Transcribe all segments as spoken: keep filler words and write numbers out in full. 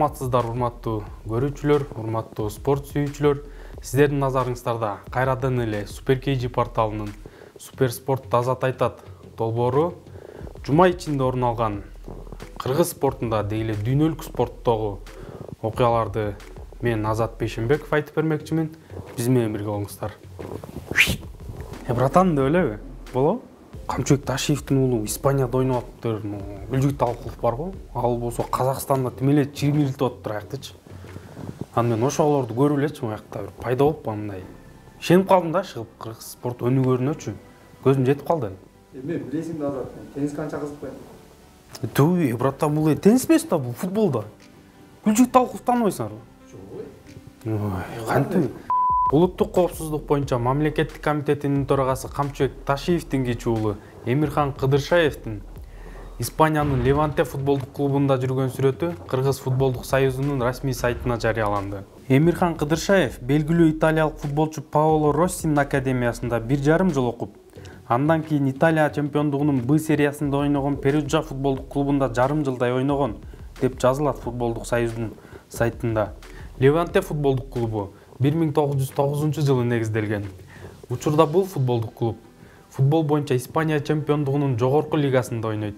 Саламатсыздар, урматтуу көрүүчүлөр, урматтуу спорт сүйүүчүлөр. Сиздердин назарыңыздарда кайрадан эле Суперкейджи порталынын Супер спорт Азат айтат долбоору жума ичинде орун алган кыргыз спортунда деги эле дүйнөлүк спорттогу окуяларды мен Азат Бейшенбеков айтып бермекчимин. Биз менен бирге болуңуздар. Э братан деп элеби? Болобу? Камчыбек Ташиевдин уулу Испанияда ойноп атыптыр. Гүлжүгүт Алыкулов барбы? Ал болсо Казакстанда тим эле чимирилтип атыптыр аяктычы. Аны мен ошолорду көрүп элечи аякта бир пайда болуп мындай. Ишенип калдым да чыгып кыргыз спорт өнүгөрүнөчү. Көзүм жетип калды. Эме билесиң да Азат, теннис канча кызыкпайт. Түбү, братан, бул теннис эмес да, бул футболда. Гүлжүгүт Алыкуловду тааныбайсыңарбы? Жок. Ой, кантип? Улуттук коопсуздук боюнча мамлекеттик комитетинин төрагасы Камчыбек Ташиевдин кичи уулу Эмирхан Кыдыршаевдин Испаниянын Леванте футболдук клубунда жүргөн сүрөтү Кыргыз футболдук союзунун расмий сайтына жарыяланды. Эмирхан Кыдыршаев белгилүү италиялык футболчу Паоло Россинин академиясында бир жарым жыл окуп, андан кийин Италия чемпиондугунун Б сериясында ойногон Перуджа футболдук клубунда жарым жылдай ойногон деп жазылат футболдук союздун сайтында. Леванте футболдук клубу бир миң тогуз жүз тогузунчу жылы негизделген. Учурда бул футболдук клуб футбол боюнча Испания чемпиондугунун жогорку лигасында ойнойт.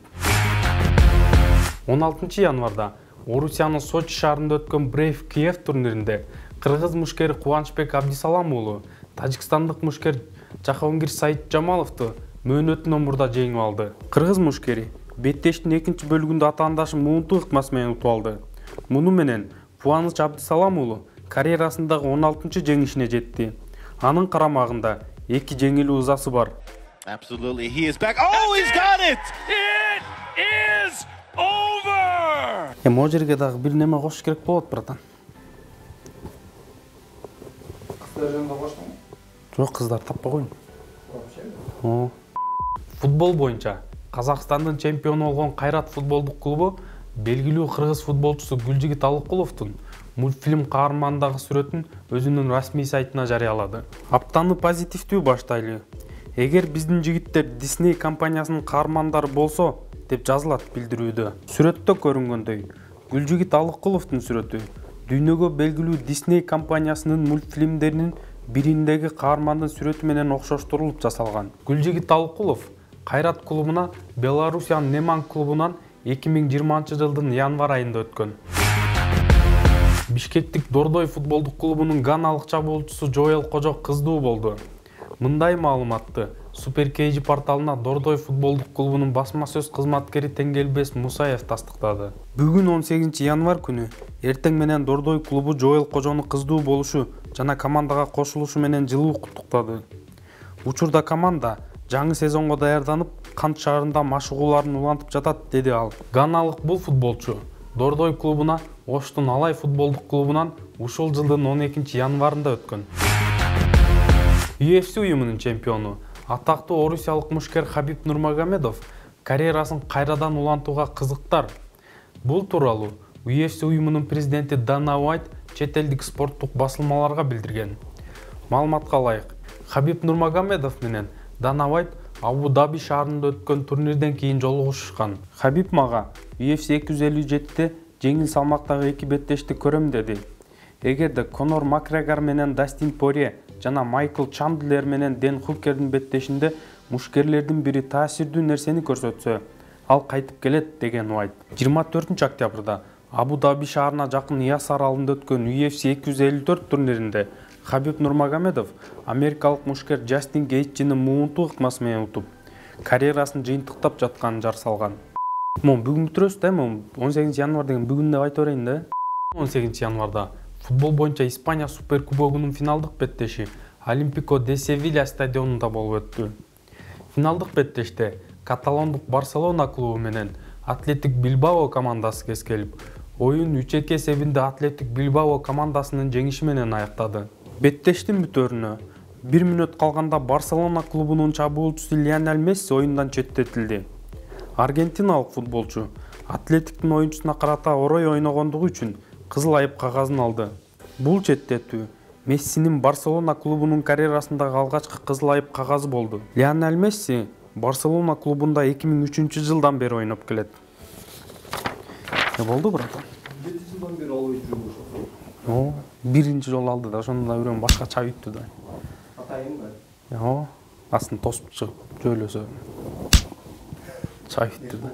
он алтынчы январда Орусиянын Сочи шаарында өткөн Брейв Киев турниринде кыргыз мушкери Кубанычбек Абдисалам уулу тажикстандык мушкер Жахонгир Саид Жамаловду мөөнөтү номурда жеңип алды. Кыргыз мушкери беттештин экинчи бөлүгүндө атаандашын муунтуу ыкмасы менен утуп алды. Муну менен Кубаныч Абдисалам уулу карьерасындагы он алтынчы жеңишине жетти. Анын карамагында эки жеңилүү ызасы бар. Absolutely, he is back. Oh, he's got it! It is over! Эми могу жерге дагы бир неме кошуш керек болот, братан. Кыздар жөнүндө коштуңбу? Жок, кыздар таппай койдум. Вообще? Футбол боюнча Казакстандын чемпиону болгон Кайрат футболдук клубу белгилүү кыргыз футболчусу Гүлжүгүт Алыкуловдун мультфильм каарманындагы сүрөтүн өзүнүн расмий сайтына жарыялады. Аптаны позитивдүү баштайлы. Эгер биздин жигиттер Disney компаниясынын каармандары болсо, деп жазылат билдирүүдө. Сүрөттө көрүнгөндөй, Гүлжүгүт Алыкуловдун сүрөтү дүйнөгө белгилүү Disney компаниясынын мультфильмдеринин бириндеги каармандын сүрөтү менен окшоштурулуп жасалган. Гүлжүгүт Алыкулов Кайрат клубуна Белоруссиянын Неман клубунан эки миң жыйырманчы жылдын январ айында өткөн. Бишкектик Дордой футболдук клубунун ганалык чабуулчусу Жоэл Кожо кыздуу болду. Мындай маалыматты Суперкейджи порталына Дордой футболдук клубунун басма сөз кызматкери Теңгелбес Мусаев тастыктады. Бүгүн он сегизинчи январ күнү эртең менен Дордой клубу Жоэл Кожону кыздуу болушу жана командага кошулушу менен жылуу куттуктады. Учурда команда жаңы сезонго даярданып, Кант шаарында машыгууларын улантып жатат, деди ал. Ганалык бул футболчу Дордой клубуна Оштун Алай футболдук клубунан ушул жылдын он экинчи январында өткөн. ю эф си уюмунун чемпиону, атактуу орусиялык мушкер Хабиб Нурмагомедов карьерасын кайрадан улантууга кызыктар. Бул тууралуу ю эф си уюмунун президенти Дана Уайт чет элдик спорттук басылмаларга билдирген. Маалыматка ылайык, Хабиб Нурмагомедов менен Дана Уайт Абу-Даби шаарында өткөн турнирден кийин жолугушкан. Хабиб мага ю эф си эки жүз элүү жетиде жеңил салмактагы эки беттешти көрөм деди. Эгерде Конор Макгрегор менен Дастин Порье жана Майкл Чандлер менен Дэн Хукердин беттешинде мушкерлердин бири таасирдүү нерсени көрсөтсө, ал кайтып келет, деген Уайт. жыйырма төртүнчү октябрда Абу-Даби шаарына жакын Яс аралында өткөн ю эф си эки жүз элүү төрт турниринде Хабиб Нурмагомедов америкалык мушкер Джастин Гейтчини муунтуу ыкмасы менен утуп, карьерасын жыйынтыктап жатканын жар салган. Мон бүгүн бүтүрөбүз да, он сегизинчи январ деген бүгүн деп айта берейин да. он сегизинчи январда футбол боюнча Испания суперкубогунун финалдык беттеши Олимпико де Севилья стадионунда болуп өттү. Финалдык беттеште каталондук Барселона клубу менен Атлетик Билбао командасы кескелип, оюн үч эки эсебинде Атлетик Билбао командасынын жеңиши менен аяктады. Беттештин бүтөөрүнө бир мүнөт калганда Барселона клубунун чабуулчусу Лионель Месси оюндан четтетилди. Аргентиналык футболчу Атлетиктин оюнчусуна карата орой ойногондугу үчүн кызыл айып кагазын алды. Бул четтетүү Мессинин Барселона клубунун карьерасындагы алгачкы кызыл айып кагазы болду. Лионель Месси Барселона клубунда эки миң үчүнчү жылдан бери ойноп келет. Ne oldu burada? жылдан бери албай жүрүп ошол. О, биринчи жолу алды да, ошондо да бирөө башкача бүттү да. Атайын да. О, астын тосуп чыгып жөйлөсө чай бүттү да.